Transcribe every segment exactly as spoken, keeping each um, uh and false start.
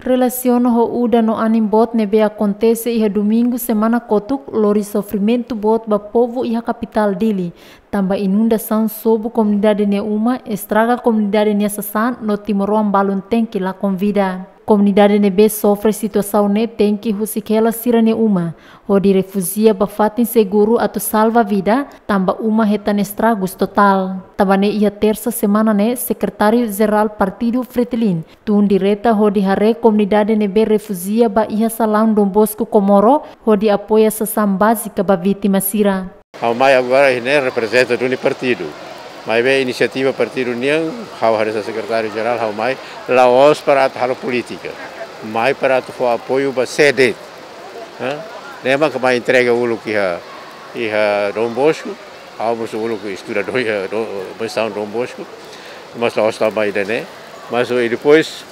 Relasiona ho udan no anin boot ne'ebé akontese iha Domingu semana kotuk, lori sofrimentu boot ba povu iha kapitál Dili, tanba inundasaun sobu komunidade nia uma, estraga komunidade nia sasán no timoroan balun tenke lakon vida. Komunidade ne'ebé sofre situasaun ne'e tenke husik hela sira-nia uma, hodi refújia ba fatin seguru atu salva vida, tanba uma hetan estragus totál. Tanba ne'e iha tersa semana ne'e, Sekretáriu Jerál Partidu Fretilin tun direta hodi haree komunidade ne'ebé refújia ba iha salaun Dom Bosco Comoro, hodi apoia sasán bázika ba vítima sira. Ha'u mai agora iha ne'e reprezenta duni partidu. Maibé inisiativa partidu nian, ha'u hanesan sekretáriu jerál, ha'u mai la'ós para atu halo polítika. Mai para atu fó apoiu ba sé de'it. Hã? Ne'e mak mai entrega uluk iha, iha Dom Bosco. Ha'u mós uluk estudadór iha do, Missão Dom Bosco. Mas la'ós tanba ida-ne'e. Mas, eh, depois,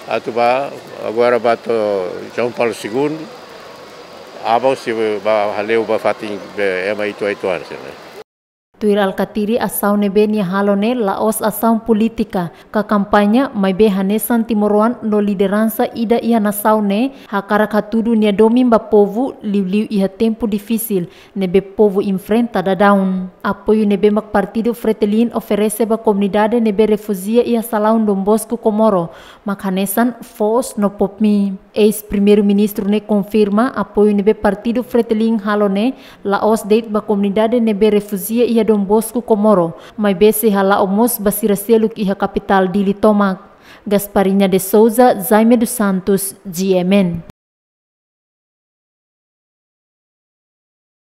atu ba, agora ba to'o João Paulo Segundo, aban sei ba hale'u ba fatin be ema uitoan-uitoan sira-ne'e. Tuir Alkatiri, asaun ne'ebé nia halo ne'e la'ós asaun polítika ka kampaña, maibé hanesan timoroan no lideransa ida iha nasaun ne'e hakarak hatudu nia domin ba povu, liuliu iha tempu difisil ne'ebé povu enfrenta daudaun. Apoiu ne'ebé mak Partidu Fretilin oferese ba komunidade ne'ebé refújia iha salaun Dom Bosco Comoro mak hanesan foos no popmi. Eis-Primeiru-Ministru ne'e konfirma apoiu ne'ebé Partidu Fretilin halo ne'e la'ós de'it ba komunidade ne'ebé refújia iha Dom Bosco Comoro, maibé sei hala'o mós ba sira seluk iha kapitál Dili tomak. Gasparinha de Souza, Jaime dos Santos, G M N.